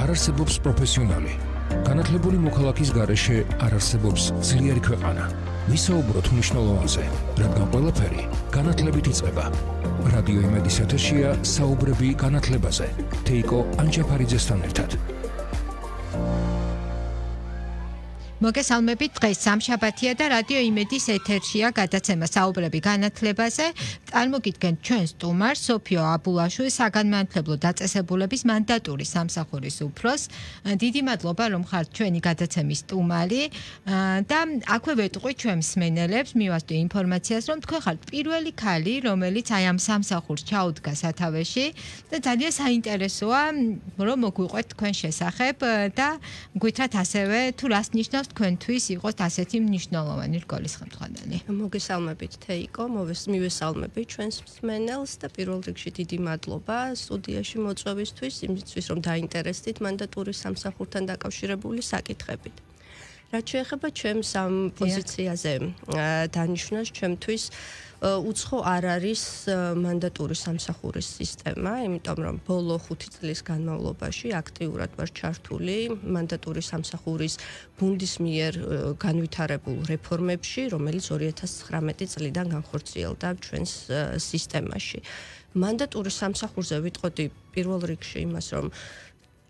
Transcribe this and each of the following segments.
არ არსებობს პროფესიონალი. განათლებული მოქალაქის გარეშე არ არსებობს ძლიერი ქვეყანა. ვისაუბროთ მნიშვნელოვანზე, რადგან ყველაფერი განათლებით იწყება. რადიო იმედის ეთერშია საუბრები განათლებაზე. თეიკო ანჯაფარიძესთან ერთად. მოგესალმებით, დღეს სამშაბათია და რადიო იმედის ეთერშია გადაცემა საუბრები განათლებაზე. წარმოგიდგენთ ჩვენ სტუმარს სოფიო აბულაშვილს, საგანმანათლებლო დაწესებულების მანდატური სამსახურის უფროსს. დიდი მადლობა, რომ ხართ ჩვენი გადაცემის სტუმარი და აქვე ვეტყვი ჩვენ მსმენელებს, მივასწრე ინფორმაციას, რომ თქვენ ხართ პირველი ქალი, რომელიც აი ამ სამსახურს ჩაუდგა სათავეში და ძალიან საინტერესოა, რომ მოგვიყვეთ თქვენ შესახებ და გვითხრათ ასევე თუ რას ნიშნავს თქვენთვის იყოს ასეთი მნიშვნელოვანი რგოლის ხელმძღვანელი. მოგესალმებით თეიკო, მივესალმებით ჩვენს მსმენელს და პირველ რიგში დიდი მადლობა სტუდიაში მოწვევისთვის, იმისთვის რომ დაინტერესდით მანდატურის სამსახურთან დაკავშირებული საკითხებით. რაც შეეხება ჩემს ამ პოზიციაზე დანიშნას, ჩემთვის უცხო არ არის მანდატური სამსახურის სისტემა, იმიტომ რომ ბოლო 5 წლის განმავლობაში აქტიურად ვარ ჩართული მანდატური სამსახურის გუნდის მიერ განვითარებულ რეფორმებში, რომელიც 2019 წლიდან განხორციელდა ჩვენს სისტემაში. მანდატური სამსახურზე ვიტყოდი პირველ რიგში იმას, რომ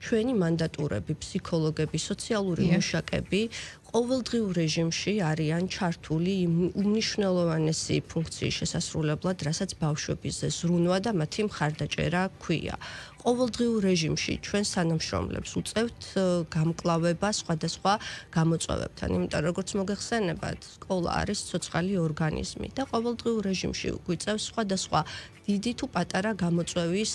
ჩვენი მანდატურები, ფსიქოლოგები, სოციალური მუშაკები ყოველდღიურ რეჟიმში არიან ჩართული უმნიშვნელოვანესი ფუნქციის შესასრულებლად, რასაც ბავშვების ზრუნვა და მათი მხარდაჭერა ქვია. ყოველდღიურ რეჟიმში ჩვენ თანამშრომლებს უწევთ გამკლავება სხვადასხვა გამოწვევებთან, იმიტომ როგორც მოგეხსენებათ, სკოლა არის ცოცხალი ორგანიზმი და ყოველდღიურ რეჟიმში გვიწევს სხვადასხვა დიდი თუ პატარა გამოწვევის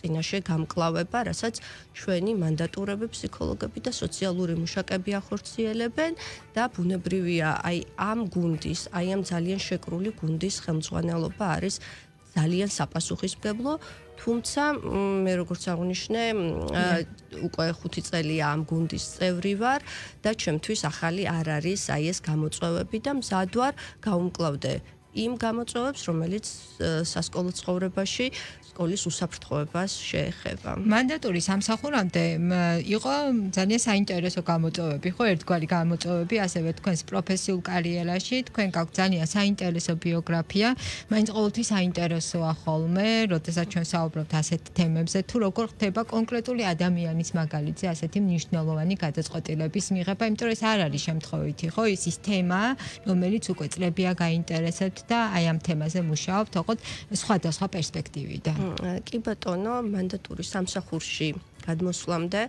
წინაშე გამკლავება, რასაც ჩვენი მანდატურები, ფსიქოლოგები და სოციალური მუშაკები ახორციელებენ და ბუნებრივია, აი ამ გუნდის, აი ამ ძალიან შეკრული გუნდის ხელმძღვანელობა არის ძალიან საპასუხისმგებლო, თუმცა მე როგორც აღნიშნე, უკვე 5 წელია ამ გუნდის წევრი ვარ და ჩემთვის ახალი არ არის აი ეს გამოწვევები და მზად ვარ გავუმკლავდე იმ გამოწვევებს, რომელიც სასკოლო ცხოვრებაში სკოლის უსაფრთხოებას შეეხება. მანდატური სამსახურამდე იყო ძალიან საინტერესო გამოწვევები, ხო, ერთგვარი გამოწვევები, ასევე თქვენს პროფესიულ კარიერაში, თქვენ გაქვთ ძალიან საინტერესო ბიოგრაფია, მაინც ყოველთვის საინტერესოა ხოლმე, როდესაც ჩვენ საუბრობთ ასეთ თემებზე, თუ როგორ ხდება კონკრეტული ადამიანის მაგალითზე ასეთი მნიშვნელოვანი გადაწყვეტილების მიღება, იმიტომ რომ ეს არ არის შემთხვევითი, ხო, ის თემა, რომელიც უკვე წლებია გაინტერესებთ და აი ამ თემაზე მუშაობთ, ოღონდ სხვადასხვა პერსპექტივიდან. კი ბატონო, მანდატური სამსახურში გადმოსვლამდე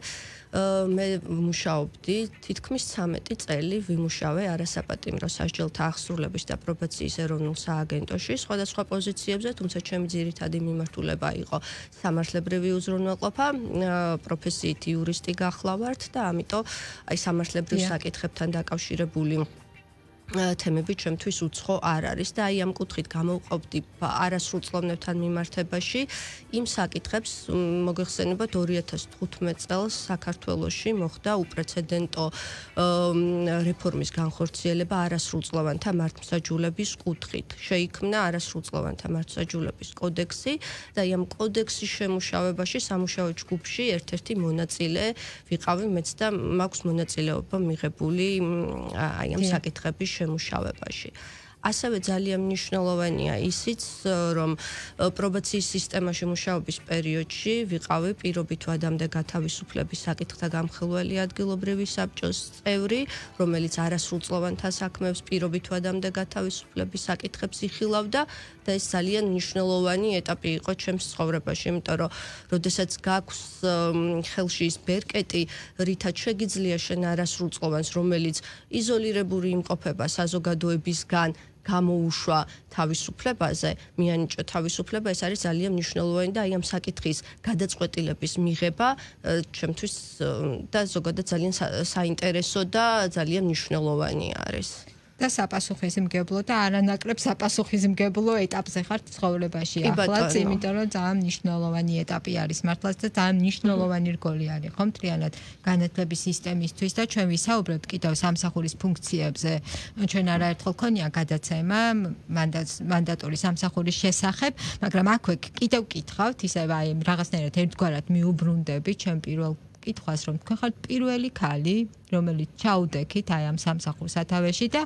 მე მუშაობდი თითქმის 13 წელი ვიმუშავე არასაპატიმრო სასჯელთა აღსრულების და პრობაციის ეროვნულ სააგენტოში სხვადასხვა პოზიციებზე, თუმცა ჩემი ძირითადი მიმართულება იყო სამართლებრივი უზრუნველყოფა, პროფესიით იურისტი გახლავართ და ამიტომ აი სამართლებრივ საკითხებთან დაკავშირებული თემები ჩემთვის უცხო არ არის და აი ამ კუთხით გამოვყოფდი არასრულწლოვნებთან მიმართებაში იმ საკითხებს მოგეხსენებათ 2015 წელს საქართველოში მოხდა უპრეცედენტო რეფორმის განხორციელება არასრულწლოვანთა მართლმსაჯულების კუთხით. შეიქმნა არასრულწლოვანთა მართლმსაჯულების კოდექსი და აი ამ კოდექსის შემუშავებაში სამუშაო ჯგუფში ერთ-ერთი მონაწილე ვიყავი მეც და მაქვს მონაწილეობა მიღებული აი ამ საკითხების შემუშავებაში. ასევე ძალიან მნიშვნელოვანია ისიც, რომ პრობაციის სისტემაში მუშაობის პერიოდში ვიყავი პირობით ვადამდე გათავისუფლების საკითხთა გამხელველი ადგილობრივი საბჭოს წევრი, რომელიც არასრულწლოვანთა საქმეებს პირობით ვადამდე გათავისუფლების საკითხებს იხილავდა და ეს ძალიან მნიშვნელოვანი ეტაპი იყო ჩემს ცხოვრებაში, იმიტომ რომ როდესაც გაქვს ხელში ის ბერკეტი, რითაც შეგიძლია შენ არასრულწლოვანს, რომელიც იზოლირებული იმყოფება საზოგადოებისგან გამოუშვა თავისუფლებაზე, მიანიჭა თავისუფლება, ეს არის ძალიან მნიშვნელოვანი და აი ამ საკითხის გადაწყვეტილების მიღება ჩემთვის და ზოგადად ძალიან საინტერესო და ძალიან მნიშვნელოვანი არის. და საპასუხისმგებლო და არანაკლებ საპასუხისმგებლო ეტაპზე ხართ ცხოვრებაში ახლაც, იმიტომ რომ ძალიან მნიშვნელოვანი ეტაპი არის მართლაც და ძალიან მნიშვნელოვანი რგოლი არის ხო მთლიანად განათლების სისტემისთვის და ჩვენ ვისაუბრებთ კიდევ სამსახურის ფუნქციებზე. ჩვენ არაერთხელ ქონია გადაცემა მანდატური სამსახურის შესახებ, მაგრამ აქვე კიდევ კითხავთ, ისევ აი რაღაცნაირად ერთგვარად მიუბრუნდები ჩვენ პირველ კითხვას, რომ თქვენ ხართ პირველი ქალი, რომელიც ჩაუდექით აი ამ სამსახურს სათავეში და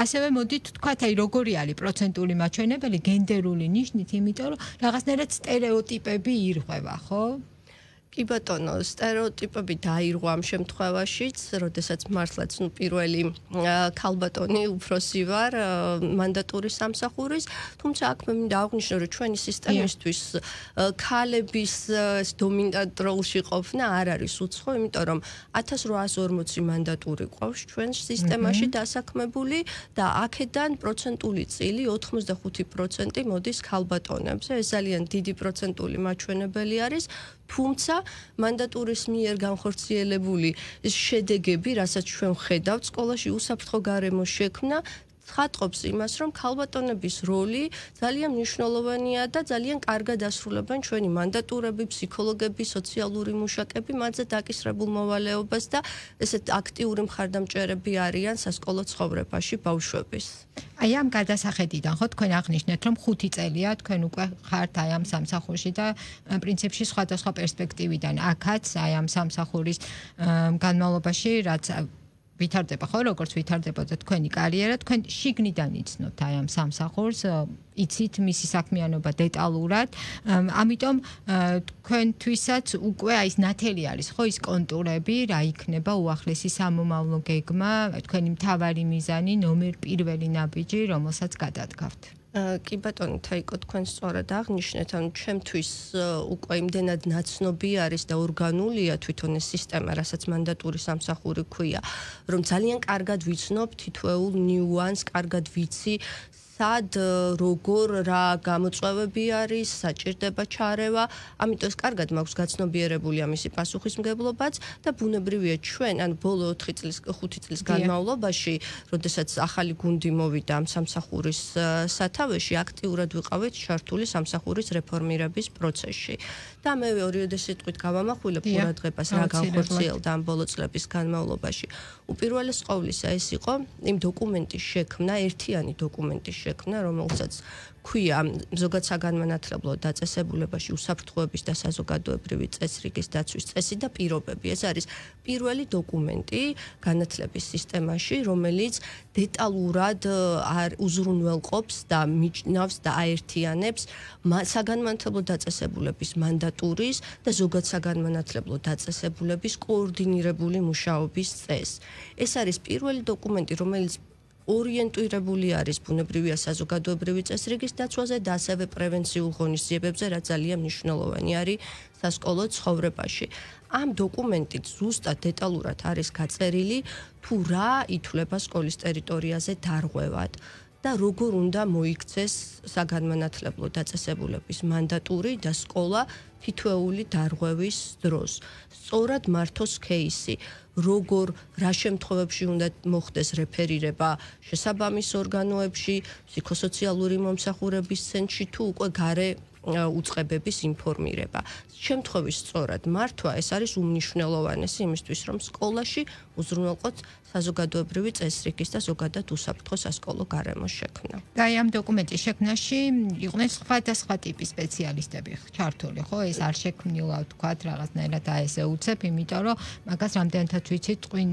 ასევე მოდით თქვათ, აი როგორი არის პროცენტული მაჩვენებელი გენდერული ნიშნით, იმიტომ რომ რაღაცნაირად სტერეოტიპები ირღვევა, ხო? კი ბატონო, სტერეოტიპები დაირღვა ამ შემთხვევაშიც, როდესაც მართლაც პირველი ქალბატონი უფროსი ვარ მანდატური სამსახურის, თუმცა აქ მე მინდა აღვნიშნო, რომ ჩვენი სისტემისთვის ქალების დომინანტ როლში ყოფნა არ არის უცხო, იმიტომ რომ 1840 მანდატური ყავს ჩვენ სისტემაში დასაქმებული და აქედან პროცენტული წილი 85% მოდის ქალბატონებზე. ეს ძალიან დიდი პროცენტული მაჩვენებელი არის. თუმცა მანდატურის მიერ განხორციელებული შედეგები, რასაც ჩვენ ვხედავთ, სკოლაში უსაფრთხო გარემო შექმნა ცხადყოფს იმას, რომ ქალბატონების როლი ძალიან მნიშვნელოვანია და ძალიან კარგად ასრულებენ ჩვენი მანდატურები, ფსიქოლოგები, სოციალური მუშაკები, მათზე დაკისრებულ მოვალეობას და ესეთ აქტიური მხარდამჭერები არიან სასკოლო ცხოვრებაში ბავშვების. აი ამ გადასახედიდან ხო თქვენ აღნიშნეთ, რომ 5 წელია თქვენ უკვე ხართ აი ამ სამსახურში და პრინციპში სხვადასხვა პერსპექტივიდან აქაც აი ამ სამსახურის განმავლობაში რაც ვითარდება ხო, როგორც ვითარდებოდა თქვენი კარიერა, თქვენ შიგნიდან იცნობთ აი ამ სამსახურს, იცით მისი საქმიანობა დეტალურად, ამიტომ თქვენთვისაც უკვე აი ეს ნათელი არის ხო ის კონტურები, რა იქნება უახლესი სამომავლო გეგმა, თქვენი მთავარი მიზანი, ნომერ პირველი ნაბიჯი, რომელსაც გადადგავთ. კი ბატონო, თაიკო, თქვენ სწორად აღნიშნეთ, ანუ ჩემთვის უკვე იმდენად ნაცნობი არის და ორგანულია თვითონ ეს სისტემა, რასაც მანდატური სამსახური ქვია, რომ ძალიან კარგად ვიცნობ თითოეულ ნიუანსს, კარგად ვიცი სად როგორ რა გამოწვევები არის, საჭირდება ჩარევა, ამიტომ კარგად მაქვს გაცნობიერებული ამისი პასუხისმგებლობაც და ბუნებრივია ჩვენ, ან ბოლო 5 წლის განმავლობაში, როდესაც ახალი გუნდი მოვიდა ამ სამსახურის სათავეში, აქტიურად ვიყავით ჩართული სამსახურის რეფორმირების პროცესში. და მე ორიოდე სიტყვით გავამახვილებ ყურადღებას რა განხორციელდა ამ ბოლო წლების განმავლობაში. უპირველეს ყოვლისა ეს იყო იმ დოკუმენტის შექმნა, ერთიანი დოკუმენტის შექმნა, რომელსაც ქვია ზოგად საგანმანათლებლო დაწესებულებაში უსაფრთხოების და საზოგადოებრივი წესრიგის დაცვის წესი და პირობები. ეს არის პირველი დოკუმენტი განათლების სისტემაში, რომელიც დეტალურად უზრუნველყოფს და მიჩნევს და აერთიანებს საგანმანათლებლო დაწესებულების მანდატურის და ზოგად საგანმანათლებლო დაწესებულების კოორდინირებული მუშაობის წესს. ეს არის პირველი დოკუმენტი, რომელიც ორიენტირებული არის ბუნებრივია საზოგადოებრივი წესრიგის დაცვაზე და ასევე პრევენციულ ღონისძიებებზე, რაც ძალიან მნიშვნელოვანი არის სასკოლო ცხოვრებაში. ამ დოკუმენტით ზუსტად დეტალურად არის გაწერილი თუ რა ითვლება სკოლის ტერიტორიაზე დარღვევად და როგორ უნდა მოიქცეს საგანმანათლებლო დაწესებულების მანდატური და სკოლა თითოეული დარღვევის დროს. სწორად მართოს кейსი, როგორ რა შემთხვევებში უნდა მოხდეს რეფერირება შესაბამის ორგანოებში, ფსიქოსოციალური მომსახურების ცენტრში თუ უკვე გარე უწყებების ინფორმირება. შემთხვევის სწორად მართვა ეს არის უმნიშვნელოვანესი იმისთვის, რომ სკოლაში უზრუნველყოთ საზოგადოებრივი წესრიგის და ზოგადად უსაფრთხო სასკოლო გარემოს შექმნა. და აი ამ დოკუმენტის შექმნაში იყვნენ სხვადასხვა ტიპის სპეციალისტები ჩართული, ხო? ეს არ შექმნილა ვთქვათ რაღაცნაირად აი ესე უცებ, იმიტომ რომ მაგას რამდენადაც ვიცით, ტყვინ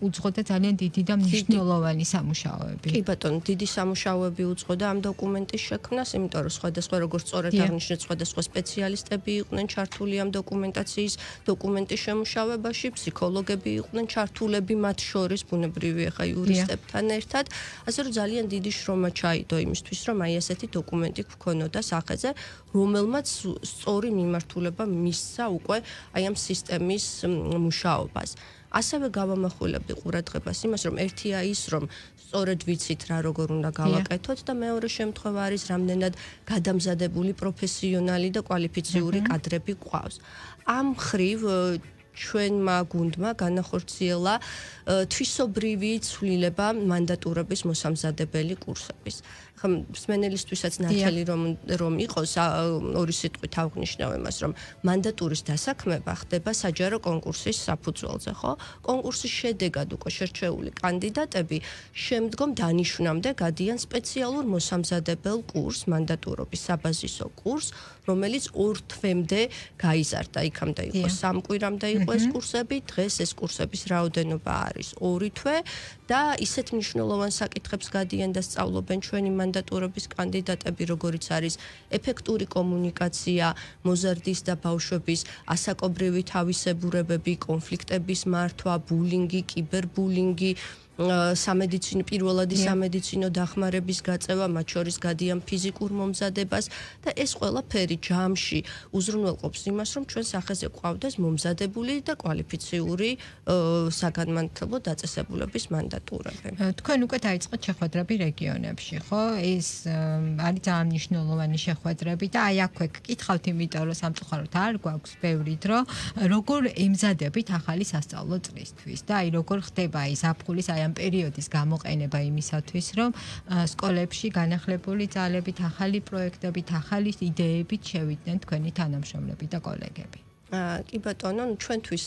უძღო და ძალიან დიდი და მნიშვნელოვანი სამუშაოები. კი ბატონო, დიდი სამუშაოები უძღოდა ამ დოკუმენტის შექმნას, იმიტომ რომ სხვადასხვა როგორც სწორად აღნიშნეთ, სხვადასხვა სპეციალისტები იყვნენ ჩართული ამ დოკუმენტის შემუშავებაში, ფსიქოლოგები იყვნენ ჩართულები მათ შორის ბუნებრივია ხა იურისტებთან ერთად, ასე რომ ძალიან დიდი შრომა ჩაიდო იმისთვის, რომ აი ესეთი დოკუმენტი გქონოდა სახეზე, რომელმაც სწორი მიმართულება მისცა უკვე აი ამ სისტემის მუშაობას. ასევე გავამახვილებდი ყურადღებას იმას, რომ ერთია ის, რომ სწორედ ვიცით რა როგორ უნდა გავაკეთოთ და მეორე შემთხვევა არის რამდენად გადამზადებული პროფესიონალი და კვალიფიციური კადრები გვყავს. ამ მხრივ ჩვენმა გუნდმა განახორციელა თვისობრივი ცვლილება მანდატურების მოსამზადებელი კურსების. მსმენელისთვისაც ნათელი რომ იყოს ორი სიტყვით ავღნიშნავ იმას, რომ მანდატურის დასაქმება ხდება საჯარო კონკურსის საფუძველზე, ხო? კონკურსის შედეგად უკვე შერჩეული კანდიდატები შემდგომ დანიშვნამდე გადიან სპეციალურ მოსამზადებელ კურსს, მანდატურობის საბაზისო კურსს, რომელიც 2 თვემდე გაიზარდა, იქამდე იყო 3 კვირამდე იყო ეს კურსები, დღეს ეს კურსების რაოდენობა არის 2 თვე და ისეთ მნიშვნელოვან საკითხებს გადიან და სწავლობენ ჩვენი მანდატურობის კანდიდატები, როგორიც არის ეფექტური კომუნიკაცია, მოზარდის და ბავშვების ასაკობრივი თავისებურებები, კონფლიქტების მართვა, ბულინგი, კიბერბულინგი, სამედიცინო პირველადი სამედიცინო დახმარების გაწევა, მათ შორის გადიან ფიზიკურ მომზადებას და ეს ყველაფერი ჯამში უზრუნველყოფს იმას, რომ ჩვენ სახეზე გვყავდეს მომზადებული და კვალიფიციური საგანმანათლებლო დაწესებულების მანდატურები. თქვენ უკვე დაიწყეთ შეხვედრები რეგიონებში, ხო? ეს არის ძალიან მნიშვნელოვანი შეხვედრები და აი აქვე გკითხავთ, იმიტომ რომ სამწუხაროდ არ გვაქვს ბევრი დრო, როგორ ემზადებით ახალი სასწავლო წლისთვის და აი როგორ ხდება ის ზაფხულის აი პერიოდის გამოყენება იმისათვის, რომ სკოლებში განახლებული ძალებით, ახალი პროექტებით, ახალი იდეებით შევიდნენ თქვენი თანამშრომლები და კოლეგები. კი ბატონო, ჩვენთვის,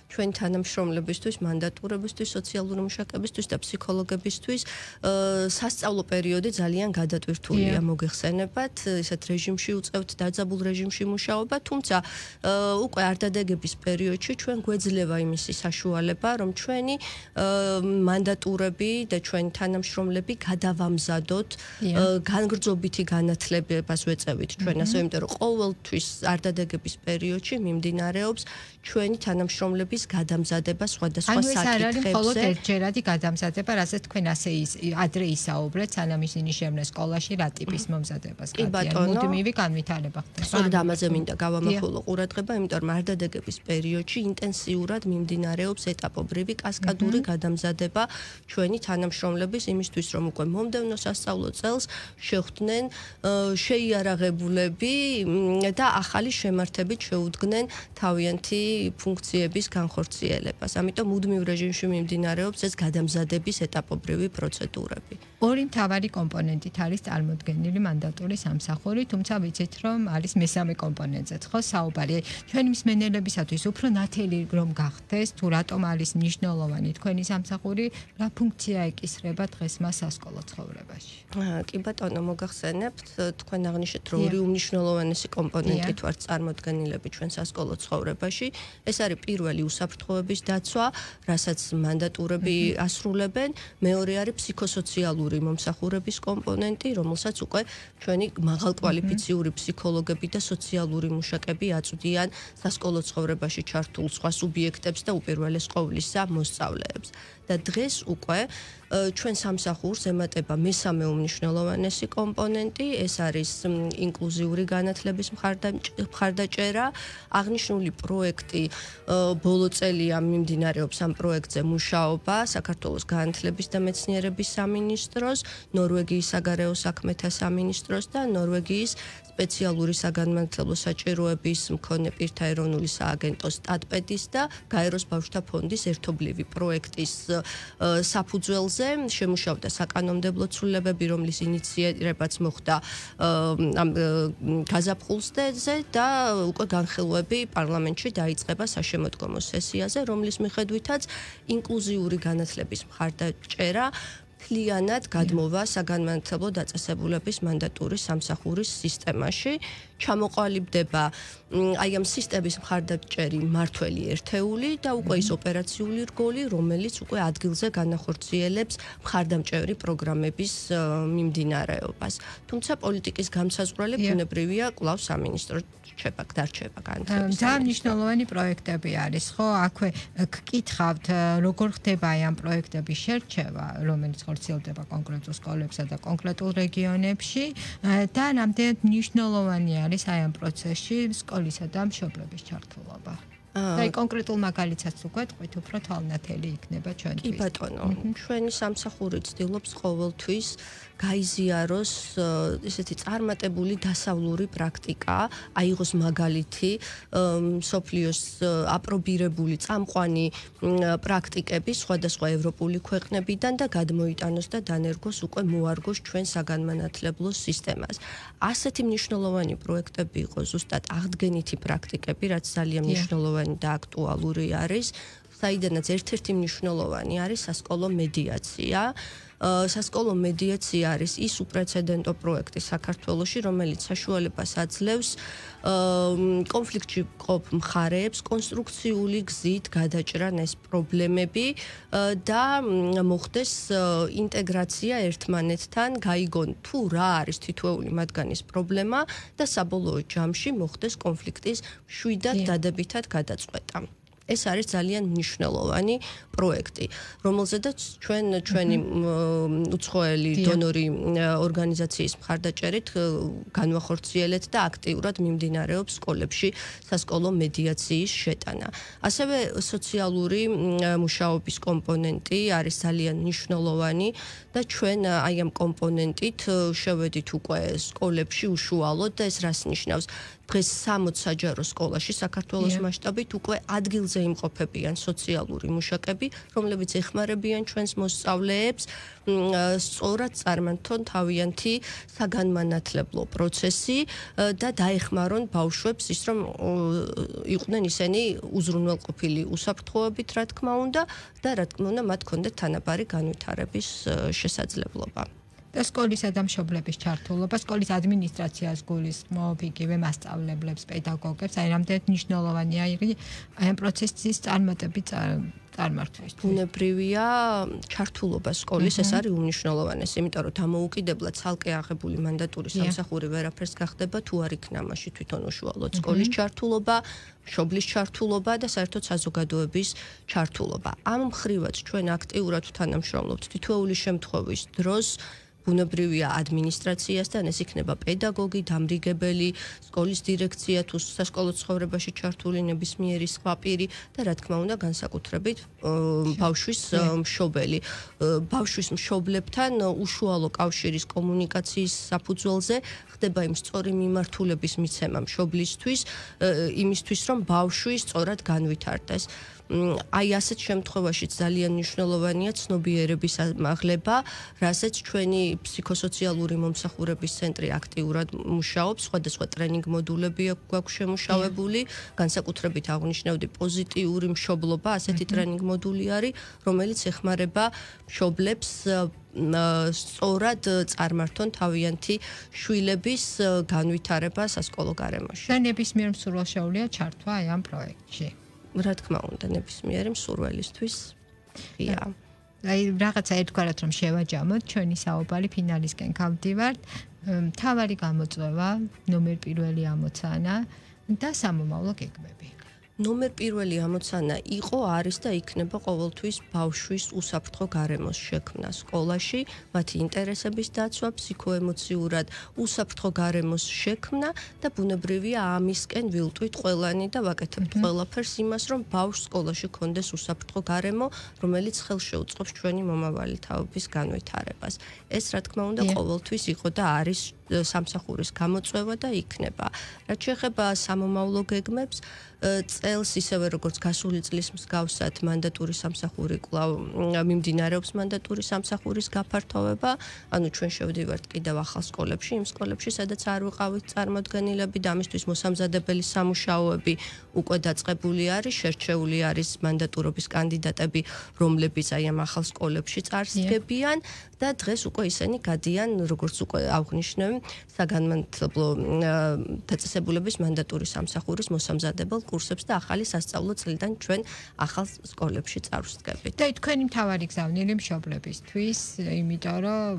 ჩვენ თანამშრომლებისთვის, მანდატურებისთვის, სოციალური მუშაკებისთვის და ფსიქოლოგებისთვის სასწავლო პერიოდი ძალიან გადატვირთულია, მოგეხსენებათ, ისეთ რეჟიმში უწევთ დაძაბულ რეჟიმში მუშაობა, თუმცა უკვე არდადეგების პერიოდში ჩვენ გვეძლევა იმისი საშუალება, რომ ჩვენი მანდატურები და ჩვენი თანამშრომლები გადავამზადოთ განგრძობითი განათლებას ვეწევით ჩვენ, ასე იმიტომ რომ ყოველთვის არდადეგების პერიოდში მიმდინარეობს ჩვენი თანამშრომლების გადამზადება სხვადასხვა საკითხებზე. ანუ ეს არ არის მხოლოდ ერთჯერადი გადამზადება, რასაც თქვენ ასე ადრე ისაუბრეთ, სანამ ისინი შევლენ სკოლაში რა ტიპის მომზადებას გადიან. მუდმივი განვითარება ხდება. სწორედ ამაზე მინდა გავამახვილო ყურადღება, იმიტომ რომ არდადეგების პერიოდში ინტენსიურად მიმდინარეობს ეტაპობრივი კასკადური გადამზადება ჩვენი თანამშრომლების იმისთვის, რომ უკვე მომდევნო სასწავლო წელს შეხვდნენ შეიარაღებულები და ახალი შემართებით შეუდგნენ თავიანთი ფუნქციების განხორციელებას. ამიტომ მუდმივ რეჟიმში მიმდინარეობს ეს გადამზადების ეტაპობრივი პროცედურები. ორი მთავარი კომპონენტით არის წარმოდგენილი მანდატურის სამსახური, თუმცა ვიცით, რომ არის მესამე კომპონენტზეც, ხო, საუბარი. ჩვენი მსმენელებისათვის უფრო ნათელი რომ გახდეს, თუ რატომ არის მნიშვნელოვანი თქვენი სამსახური, რა ფუნქცია ეკისრება დღეს მას სასკოლო ცხოვრებაში. კი ბატონო, მოგახსენებთ, თქვენ აღნიშნეთ, რომ ორი უმნიშვნელოვანესი კომპონენტით ვართ წარმოდგენილები ჩვენ სასკოლო ცხოვრებაში. ეს არის პირველი უსაფრთხოების დაცვა, რასაც მანდატურები ასრულებენ, მეორე არის ფსიქოსოციალური მომსახურების კომპონენტი, რომელსაც უკვე ჩვენი მაღალკვალიფიციური ფსიქოლოგები და სოციალური მუშაკები აწვდიან სასკოლო ცხოვრებაში ჩართულ სხვა სუბიექტებს და უპირველეს ყოვლისა მოსწავლეებს. და დღეს უკვე ჩვენ სამსახურს ემატება მესამე უმნიშვნელოვანესი კომპონენტი, ეს არის ინკლუზიური განათლების მხარდაჭერა. აღნიშნული პროექტი ბოლო წელია მიმდინარეობს ამ პროექტზე მუშაობა საქართველოს განათლების და მეცნიერების სამინისტროს, ნორვეგიის საგარეო საქმეთა სამინისტროს და ნორვეგიის სპეციალური საგანმანათლებლო საჭიროების მქონე პირთა ეროვნული სააგენტოს სტატპედის და გაეროს ბავშვთა ფონდის ერთობლივი პროექტის საფუძველზე შემუშავდა საკანონმდებლო ცვლილებები, რომლის ინიცირებაც მოხდა ამ გაზაფხულზე და უკვე განხილვები პარლამენტში დაიწყება საშემოდგომო სესიაზე, რომლის მიხედვითაც ინკლუზიური განათლების მხარდაჭერა მთლიანად გადმოვა საგანმანათლებლო დაწესებულების მანდატურის სამსახურის სისტემაში. ჩამოყალიბდება აი ამ სისტემის მხარდაჭერი მართველი ერთეული და უკვე ის ოპერაციული რგოლი, რომელიც უკვე ადგილზე განახორციელებს მხარდამჭერი პროგრამების მიმდინარეობას. თუმცა პოლიტიკის გამსაზღვრელი ბუნებრივია კვლავ სამინისტრო დარჩება განათლების. ძალიან მნიშვნელოვანი პროექტები არის, ხო? აქვე გკითხავთ, როგორ ხდება აი ამ პროექტების შერჩევა, რომელიც ხორციელდება კონკრეტულ სკოლებსა და კონკრეტულ რეგიონებში და რამდენად მნიშვნელოვანი არის აი ამ პროცესში სკოლისა და მშობლების ჩართულობა. აი კონკრეტულ მაგალითსაც უგვეთყვით, უფრო თვალნათელი იქნება ჩვენთვის. კი ბატონო, ჩვენი სამსახური ცდილობს ყოველთვის გაიზიაროს ესეთი წარმატებული დასავლური პრაქტიკა, აიღოს მაგალითი მსოფლიოს აპრობირებული წამყვანი პრაქტიკები სხვადასხვა ევროპული ქვეყნებიდან და გადმოიტანოს და დანერგოს უკვე მოარგოს ჩვენ საგანმანათლებლო სისტემას. ასეთი მნიშვნელოვანი პროექტები იყო ზუსტად აღდგენითი პრაქტიკები, რაც ძალიან მნიშვნელოვანი და აქტუალური არის, საიდანაც ერთ-ერთი მნიშვნელოვანი არის სასკოლო მედიაცია. სასკოლო მედიაცია არის ის უპრეცედენტო პროექტი საქართველოში, რომელიც საშუალებას აძლევს კონფლიქტში მყოფ მხარეებს კონსტრუქციული გზით გადაჭრან ეს პრობლემები და მოხდეს ინტეგრაცია ერთმანეთთან, გაიგონ თუ რა არის თითოეული მათგანის პრობლემა და საბოლოო ჯამში მოხდეს კონფლიქტის მშვიდად დადებითად გადაწყვეტა. ეს არის ძალიან მნიშვნელოვანი პროექტი, რომელზედაც ჩვენი უცხოელი დონორი ორგანიზაციის მხარდაჭერით განვახორციელეთ და აქტიურად მიმდინარეობს სკოლებში სასკოლო მედიაციის შეტანა. ასევე სოციალური მუშაობის კომპონენტი არის ძალიან მნიშვნელოვანი და ჩვენ აი ამ კომპონენტით შევედით უკვე სკოლებში უშუალოდ და ეს რას ნიშნავს? დღეს 60 საჯარო სკოლაში საქართველოს მასშტაბით უკვე ადგილზე იმყოფებიან სოციალური მუშაკები, რომლებიც ეხმარებიან ჩვენს მოსწავლეებს სწორად წარმართონ თავიანთი საგანმანათლებლო პროცესი და დაეხმარონ ბავშვებს ის რომ იყვნენ ისინი უზრუნველყოფილი უსაფრთხოებით, რა თქმა უნდა, და რა თქმა უნდა მათ ჰქონდეთ თანაბარი განვითარების შესაძლებლობა. და სკოლისა და მშობლების ჩართულობა, სკოლის ადმინისტრაციას გულისხმობ, იგივე მასწავლებლებს, პედაგოგებს, აი რამდენად მნიშვნელოვანია აი ამ პროცესის წარმართვისთვის. ბუნებრივია ჩართულობა სკოლის, ეს არის უმნიშვნელოვანესი, იმიტომ რომ დამოუკიდებლად ცალკე აღებული მანდატური სამსახური ვერაფერს გახდება, თუ არ იქნა მასში თვითონ უშუალოდ სკოლის ჩართულობა, მშობლის ჩართულობა და საერთოდ საზოგადოების ჩართულობა. ამ მხრივაც ჩვენ აქტიურად თანამშრომლობთ თითოეული შემთხვევის დროს ბუნებრივია ადმინისტრაციასთან, ეს იქნება პედაგოგი, დამრიგებელი, სკოლის დირექცია თუ სასკოლო ცხოვრებაში ჩართული ნებისმიერი სხვა პირი და რა თქმა უნდა განსაკუთრებით ბავშვის მშობელი. ბავშვის მშობლებთან უშუალო კავშირის კომუნიკაციის საფუძველზე ხდება იმ სწორი მიმართულების მიცემა მშობლისთვის, იმისთვის რომ ბავშვი სწორად განვითარდეს. აი ასეთ შემთხვევაში ძალიან მნიშვნელოვანია ცნობიერების ამაღლება, რასაც ჩვენი ფსიქოსოციალური მომსახურების ცენტრი აქტიურად მუშაობს, სხვადასხვა ტრენინგ მოდულები გვაქვს შემუშავებული, განსაკუთრებით აღნიშნავდი პოზიტიური მშობლობა, ასეთი ტრენინგ მოდული არის, რომელიც ეხმარება მშობლებს სწორად წარმართონ თავიანთი შვილების განვითარება სასკოლო გარემოში. და ნებისმიერ მსურველს შეუძლია ჩართვა აი ამ პროექტში. რა თქმა უნდა, ნებისმიერი მსურველისთვის ღია. აი რაღაცა ერთგვარად რომ შევაჯამოთ, ჩვენი საუბარი ფინალისკენ გავდივართ. მთავარი გამოწვევა, ნომერ პირველი ამოცანა და სამომავლო გეგმები. ნომერ პირველი ამოცანა იყო, არის და იქნება ყოველთვის ბავშვის უსაფრთხო გარემოს შექმნა სკოლაში, მათი ინტერესების დაცვა, ფსიქოემოციურად უსაფრთხო გარემოს შექმნა და ბუნებრივია ამისკენ ვილტვით ყველანი და ვაკეთებთ ყველაფერს იმას, რომ ბავშვს სკოლაში ქონდეს უსაფრთხო გარემო, რომელიც ხელშეუწყობს ჩვენი მომავალი თაობის განვითარებას. ეს რა თქმა უნდა ყოველთვის იყო და არის სამსახურის გამოწვევა და იქნება. რაც შეეხება სამომავლო გეგმებს, წელს ისევე როგორც გასული წლის მსგავსად მანდატური სამსახური კვლავ მიმდინარეობს მანდატური სამსახურის გაფართოვება, ანუ ჩვენ შევდივართ კიდევ ახალ სკოლებში, იმ სკოლებში, სადაც არ ვიყავით წარმოდგენილები და ამისთვის მოსამზადებელი სამუშაოები უკვე დაწყებული არის, შერჩეული არის მანდატურობის კანდიდატები, რომლებიც აი ამ ახალ სკოლებში წარსდგებიან და დღეს უკვე ისინი გადიან, როგორც უკვე აღნიშნე, საგანმანათლებლო დაწესებულების მანდატური სამსახურის მოსამზადებელ კურსებს და ახალი სასწავლო წლიდან ჩვენ ახალ სკოლებში წარვსდგებით. და თქვენი მთავარი გზავნილი მშობლებისთვის, იმიტომ რომ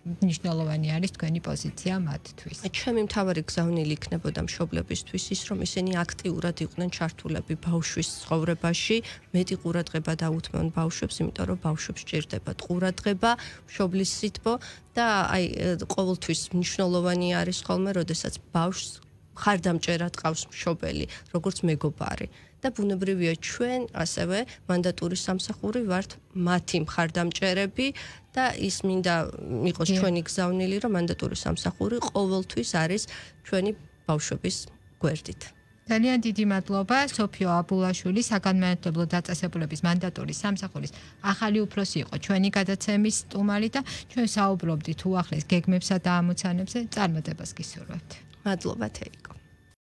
მნიშვნელოვანი არის თქვენი პოზიცია მათთვის. ჩემი მთავარი გზავნილი იქნებოდა მშობლებისთვის ის, რომ ისინი აქტიურად იყვნენ ჩართულები ბავშვის ცხოვრებაში, მეტი ყურადღება დაუთმონ ბავშვებს, იმიტომ რომ ბავშვებს სჭირდებათ ყურადღება, მშობლის სითბო და აი ყოველთვის მნიშვნელოვანი არის ხოლმე, როდესაც ბავშვს ხარდამჭერად ყავს მშობელი, როგორც მეგობარი. და ბუნებრივია ჩვენ ასევე მანდატურის სამსახური ვართ მათი მხარდამჭერები და ის მინდა იყოს ჩვენი გზავნილი, რომ მანდატურის სამსახური ყოველთვის არის ჩვენი ბავშვების გვერდით. ძალიან დიდი მადლობა სოფიო აბულაშვილი, საგანმანათლებლო დაწესებულების მანდატურის სამსახურის ახალი უფროსი იყო ჩვენი გადაცემის სტუმარი და ჩვენ საუბრობდით უახლეს გეგმებსა და ამოცანებზე. წარმატებას გისურვებთ. მადლობა თეიკო.